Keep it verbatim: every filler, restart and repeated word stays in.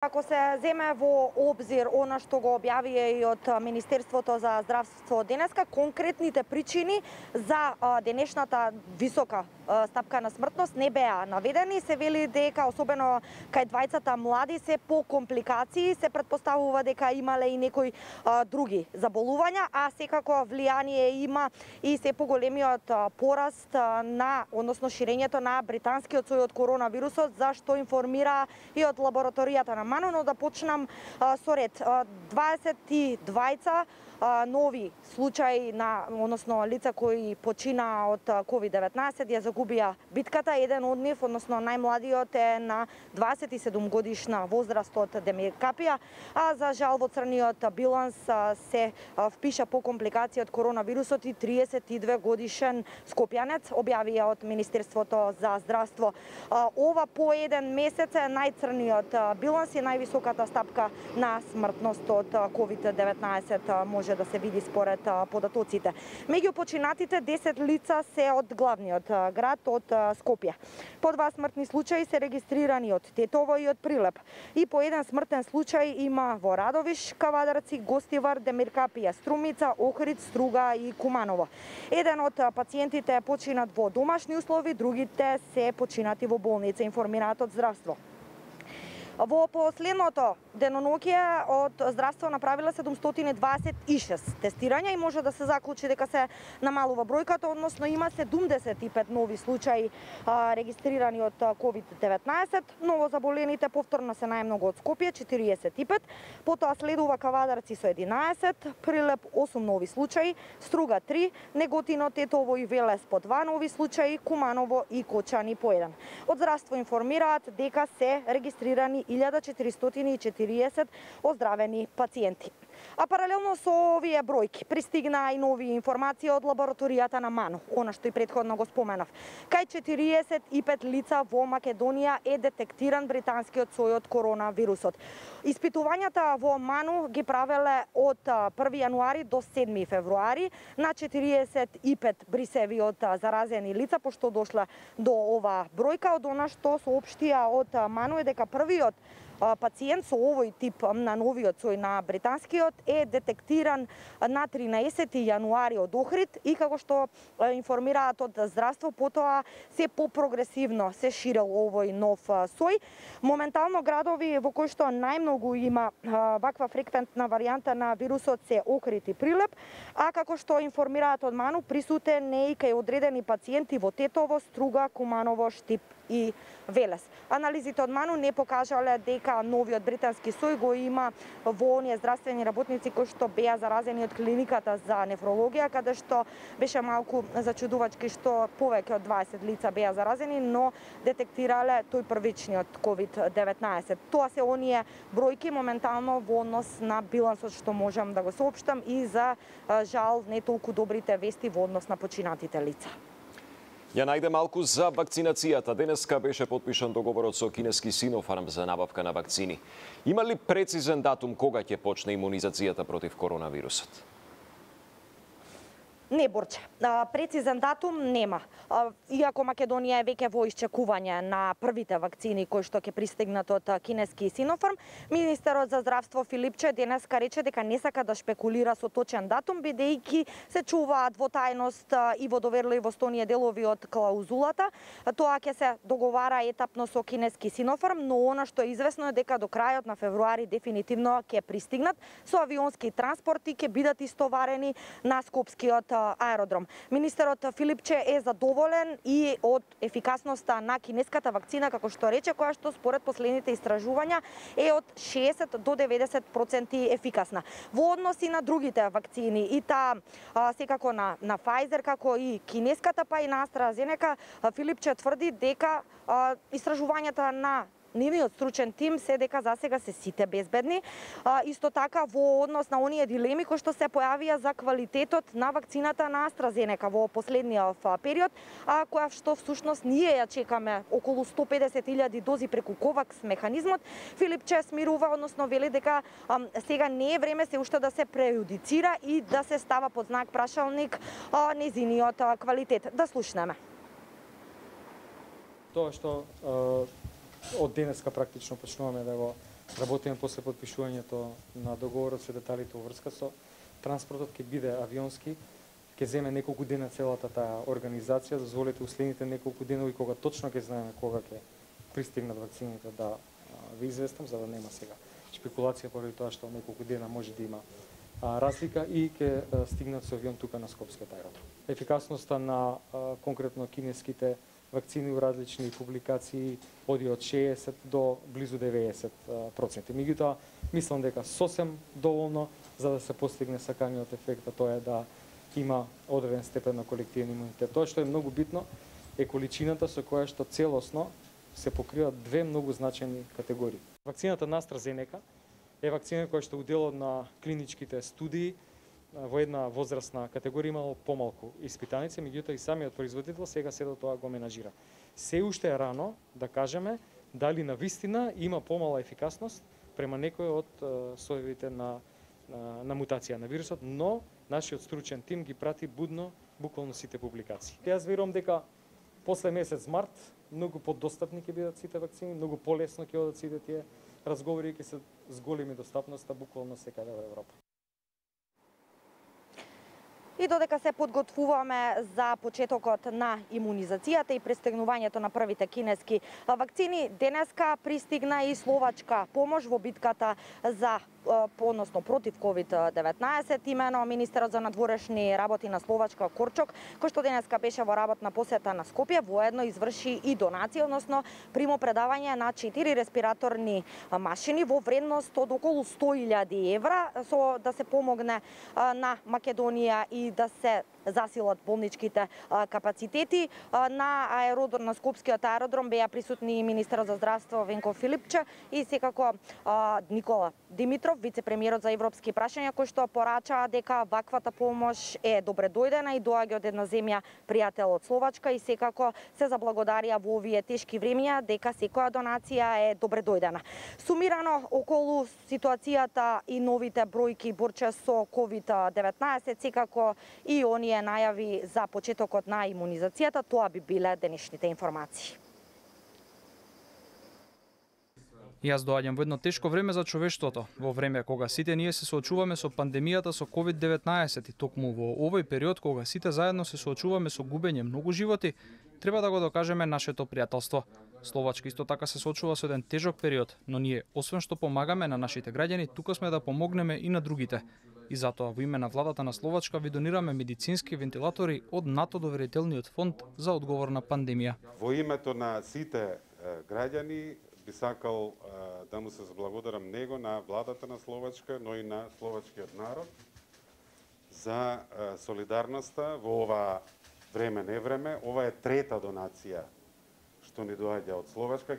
Ако се земе во обзир она што го објавија и од Министерството за здравство денеска, конкретните причини за денешната висока стапка на смртност не беа наведени. Се вели дека особено кај двајцата млади се по компликации, се претпоставува дека имале и некои а, други заболувања, а секако влијание има и се поголемиот пораст на, односно ширењето на британскиот сој од коронавирусот, за што информира и од лабораторијата на МАНУ, но да почнам а, со ред. дваесет и двајца а, нови случаи на, односно лица кои почина од ковид деветнаесет, ја загубија битката. Еден од нив, односно најмладиот, е на дваесет и седум годишна возраст од Демиркапија, а за жал во црниот биланс се впиша по компликација од коронавирусот и триесет и две годишен скопјанец, објавија од Министерството за здравство. Ова по еден месец е најцрниот биланс и највисоката стапка на смртност од ковид деветнаесет може да се види според податоците. Меѓу починатите десет лица се од главниот град, од Скопје. По два смртни случаи се регистрирани од Тетово и од Прилеп. И по еден смртен случај има во Радовиш, Кавадарци, Гостивар, Демиркапија, Струмица, Охрид, Струга и Куманово. Еден од пациентите е починат во домашни услови, другите се починати во болница, информираат од здравство. Во последното деноноќие од здравство направила седумстотини дваесет и шест тестирања и може да се заклучи дека се намалува бројката, односно има седумдесет и пет нови случаи а, регистрирани од ковид деветнаесет, новозаболените повторно се најмногу од Скопје, четириесет и пет, потоа следува Кавадарци со единаесет, Прилеп осум нови случаи, Струга три, Неготино, Тетово и Велес по два нови случаи, Куманово и Кочани по еден. Од здравство информираат дека се регистрирани илјада четиристотини и четириесет оздравени пациенти. А паралелно со овие бројки пристигнаа и нови информации од лабораторијата на МАНУ, она што и претходно го споменав. Кај четириесет и пет лица во Македонија е детектиран британскиот сој од коронавирусот. Испитувањата во МАНУ ги правеле од први јануари до седми февруари на четириесет и пет брисеви од заразени лица, пошто дошла до ова бројка. Од она што соопштија од МАНУ е дека првиот пациент со овој тип на новиот сој на британскиот е детектиран на тринаесети јануари од Охрид и како што информираат од здравство, потоа се попрогресивно се ширел овој нов сој. Моментално градови во кои што најмногу има ваква фреквентна варијанта на вирусот се Охрид и Прилеп, а како што информираат од МАНУ, присутен е и кај одредени пациенти во Тетово, Струга, Куманово, Штип и Велес. Анализите од МАНУ не покажале дека новиот британски сој го има во оние здравствени работници кои што беа заразени од клиниката за нефрологија, каде што беше малку зачудувачки што повеќе од дваесет лица беа заразени, но детектирале тој првичниот ковид деветнаесет. Тоа се оние бројки моментално во однос на билансот што можам да го соопштам и за жал не толку добрите вести во однос на починатите лица. Ја најде малку за вакцинацијата. Денеска беше потпишан договорот со кинески Синофарм за набавка на вакцини. Има ли прецизен датум кога ќе почне имунизацијата против коронавирусот? Не, Борче. Прецизен датум нема. Иако Македонија е веќе во исчекување на првите вакцини кои што ќе пристигнат од кинески Синофарм, министерот за здравство Филипче денеска рече дека не сака да шпекулира со точен датум, бидејќи се чуваат во тајност и во доверливост оние делови од клаузулата. Тоа ќе се договара етапно со кинески Синофарм, но она што е известно е дека до крајот на февруари дефинитивно ќе пристигнат со авионски транспорти, ќе бидат истоварени на скопскиот аеродром. Министерот Филипче е задоволен и од ефикасноста на кинеската вакцина, како што рече, која што според последните истражувања е од шеесет до деветдесет проценти ефикасна. Во однос и на другите вакцини, и таа секако на, на Pfizer, како и кинеската, па и на AstraZeneca, Филипче тврди дека а, истражувањата на нивниот стручен тим се дека засега се сите безбедни. А, исто така во однос на оние дилеми кои што се појавија за квалитетот на вакцината на AstraZeneca во последниот период, а која што всушност ние ја чекаме околу сто педесет илјади дози преку ковакс механизмот, Филипче смирува, односно вели дека а, сега не е време се уште да се прејудицира и да се става под знак прашалник а, незиниот а, квалитет. Да слушнеме. Тоа што од денеска практично почнуваме да го Работиме после потпишувањето на договорот се деталите уврска со транспортот, ќе биде авионски, ќе земе неколку дена целата таа организација, дозволете уследните неколку денови кога точно ќе знаеме кога ќе пристигнат вакцините да ви известам, за да нема сега шпекулација поради тоа што неколку дена може да има а, разлика и ќе стигнат со авион тука на Скопскиот аеродром. Ефикасноста на а, конкретно кинеските вакцини у различни публикации оди од шеесет до близу деветдесет проценти. Меѓутоа, мислам дека сосем доволно за да се постигне саканиот ефект, а тоа е да има одреден степен на колективен имунитет. Тоа што е многу битно е количината со која што целосно се покриваат две многу значајни категории. Вакцината на AstraZeneca е вакцина која што уделот на клиничките студии во една возрастна категорија имало помалку испитаници, меѓутоа и самиот производител сега сето тоа го менажира. Се уште е рано да кажеме дали на вистина има помала ефикасност према некој од соевите на, на, на мутација на вирусот, но нашиот стручен тим ги прати будно буквално сите публикации. Јас верувам дека после месец март многу подостапни ќе бидат сите вакцини, многу полесно ќе одат сите тие разговори и ќе се зголеми достапноста буквално секаде во Европа. И додека се подготвуваме за почетокот на имунизацијата и пристигнувањето на првите кинески вакцини, денеска пристигна и словачка помош во битката за односно против ковид деветнаесет, имено министерот за надворешни работи на Словачка Корчок, кој што денеска беше во работна посета на Скопје, воедно изврши и донација, односно примо предавање на четири респираторни машини во вредност од околу сто илјади евра, со да се помогне на Македонија и да се засилат болничките капацитети. На аеродром, на Скопскиот аеродром беа присутни и министерот за здравство Венко Филипче и секако Никола Димитров, вице-премиерот за европски прашања, кој што порача дека ваквата помош е добре дојдена и доаѓа од една земја пријател од Словачка и секако се заблагодарија во овие тешки времиња дека секоја донација е добре дојдена. Сумирано околу ситуацијата и новите бројки борче со ковид деветнаесет, секако и оние најави за почетокот на имунизацијата, тоа би биле денешните информации. Јас доаѓам во едно тешко време за човештвото, во време кога сите ние се соочуваме со пандемијата со ковид деветнаесет и токму во овој период кога сите заедно се соочуваме со губење многу животи, треба да го докажеме нашето пријателство. Словачка исто така се соочува со еден тежок период, но ние, освен што помагаме на нашите граѓани, тука сме да помогнеме и на другите. И затоа во име на владата на Словачка ви донираме медицински вентилатори од НАТО доверителниот фонд за одговор на пандемија. Во името на сите граѓани би сакал да му се заблагодарам него, на владата на Словачка, но и на словачкиот народ за солидарноста во ова време не време. Ова е трета донација што ни доаѓа од Словачка.